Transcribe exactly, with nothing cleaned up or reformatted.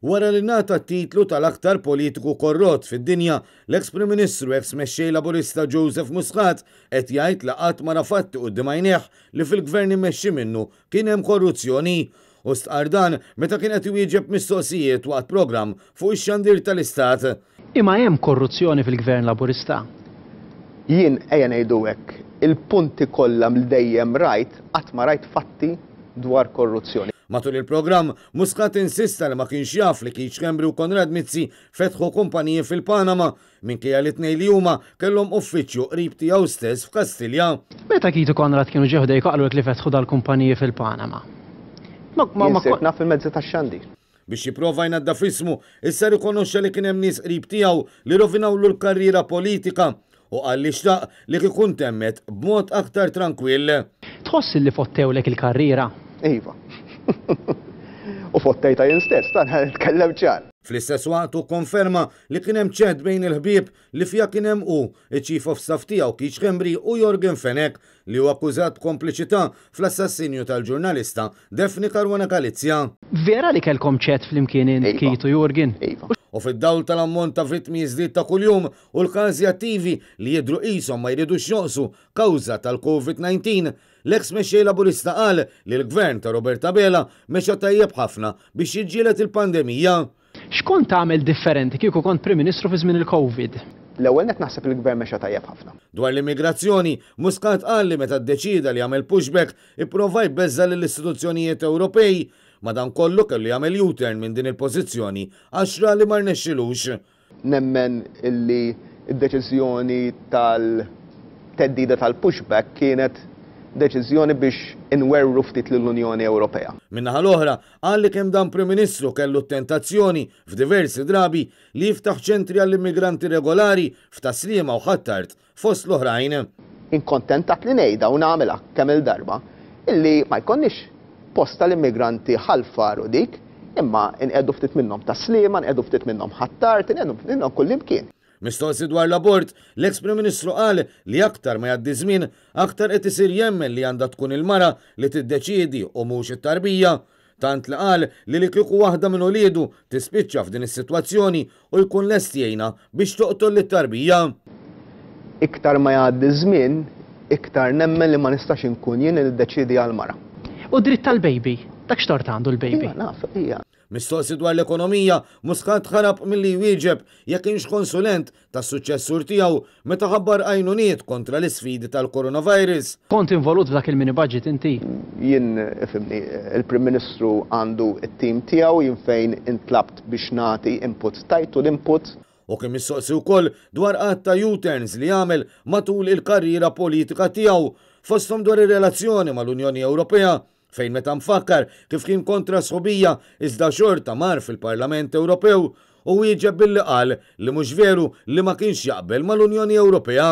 Wara li ngħata t-titlu tal-aktar politiku korrott fid-dinja, l-eks Prim Ministru, eks Mexxej Laburista Joseph Muscat qed jgħid li qatt ma ra fatti quddiem għajnejh li fil-gvern immexxi minnu kien hemm korruzzjoni. U stqarr dan meta kien qed iwieġeb mistoqsijiet waqt programm fuq ix-xandir tal-Istat. Imma hemm korruzzjoni fil-gvern Laburista? Jien, ejja ngħidu hekk, il-punti kollha li dejjem rajt, qatt ma rajt fatti dwar korruzzjoni. Matul il-programm, Muscat insista li ma kienx jaf li Keith Schembri u Konrad Mizzi fetħu kumpaniji fil-Panama, minkejja li tnejn li huma kellhom uffiċċju qrib tiegħu stess f'Kastilja. Meta Keith u Konrad kienu ġew ħdejk, qalulek li fetħu dal-kumpaniji fil-Panama? Ma ma Jien sirt naf fil-mezzi tax-xandir. Biex jipprova jnaddaf ismu, issa rikonoxxa li kien hemm nies qrib tiegħu li rovinawlu l-karriera politika u qal li xtaq li kieku ntemmet b'mod aktar trankwill. Tħoss li fottewlek il-karriera? Iva. U fottejta jien stess, ta' nitkellem ċar. Fl-istess waqt hu konferma li kien hemm chat bejn il-ħbieb li fiha kien hemm hu, iċ-Chief of Staff tiegħu Keith Schembri u Yorgen Fenech, li huwa akkużat b'kompliċità fl-assassinju tal-ġurnalista Daphne Caruana Galizia. Vera li kellkom chat flimkien int, Iva. Keith u Yorgen? Iva. U fid-dawl tal-ammont ta' vittmi jiżdied ta' kuljum u l-każi attivi li jidhru qishom ma jridux jonqsu kawża tal-COVID disa-tnax, l-eks mexxej Laburista qal li l-gvern ta' Robert Abela mexa tajjeb ħafna biex jiġġieled il-pandemija. X'kont tagħmel differenti kieku kont Prim Ministru fi żmien il-Covid? L-ewwel net naħseb il-gvern mexa tajjeb ħafna. Dwar l-immigrazzjoni, Muscat qal li meta ddeċida li jagħmel pushback ipprova jbeżza lill-istituzzjonijiet Ewropej, madankollu kellu jagħmel U-turn minn din il-pożizzjoni għax ra li ma rnexxilux. Nemmen illi id-deċiżjoni tal-theddida tal-pushback kienet deċiżjoni biex inwerru ftit lill-Unjoni Ewropea. Min-naħa l-oħra, qal li kemm dam Prim Ministru kellu tentazzjoni f'diversi drabi li jiftaħ ċentri għall-immigranti regolari f'Tas-Sliema u Ħ'Attard fost l-oħrajn. Inkontentat li ngħidha u nagħmilha kemm il-darba illi ma jkollniex post tal-immigranti Ħal Far u dik, imma inqegħdu ftit minnhom Tas-Sliema, nqegħdu ftit minnhom Ħ'Attard, inqegħdu ftit minnhom kullimkien. Mistoqsi dwar l-abort, l-eks Prim Ministru qal li aktar ma jgħaddi żmien, aktar qed isir jemmen li għandha tkun il-mara li tiddeċiedi u mhux it-tarbija. Tant li qal li li kieku waħda minn uliedu tispiċċa f'din is-sitwazzjoni u jkun lest jgħinha biex toqtol lit-tarbija. Iktar ma jgħaddi żmien, iktar nemmen li ma nistax inkun jien li niddeċiedi għal-mara. U dritt tal-baby, dak x'tort għandu l-baby? Iva, naf, hija. Mistoqsi dwar l-ekonomija, Muscat ħarab milli jwieġeb jekk kienx konsulent tas-suċċessur tiegħu meta ħabbar għajnuniet kontra l-isfidi tal-coronavirus. Kont involut f'dak il-mini budget inti? Jien, ifhimni, il-Prim Ministru għandu it-tim tiegħu, jien fejn intlabt biex nagħti input tajtu l-input. U kien mistoqsi wkoll dwar għadd ta' U-turns li għamel matul il-karriera politika tiegħu, fosthom dwar ir-relazzjoni mal-Unjoni Ewropea, fejn meta mfakkar kif kien kontra sħubija iżda xorta mar fil-Parlament Ewropew u wieġeb billi qal li mhux veru li ma kienx jaqbel mal-Unjoni Ewropea.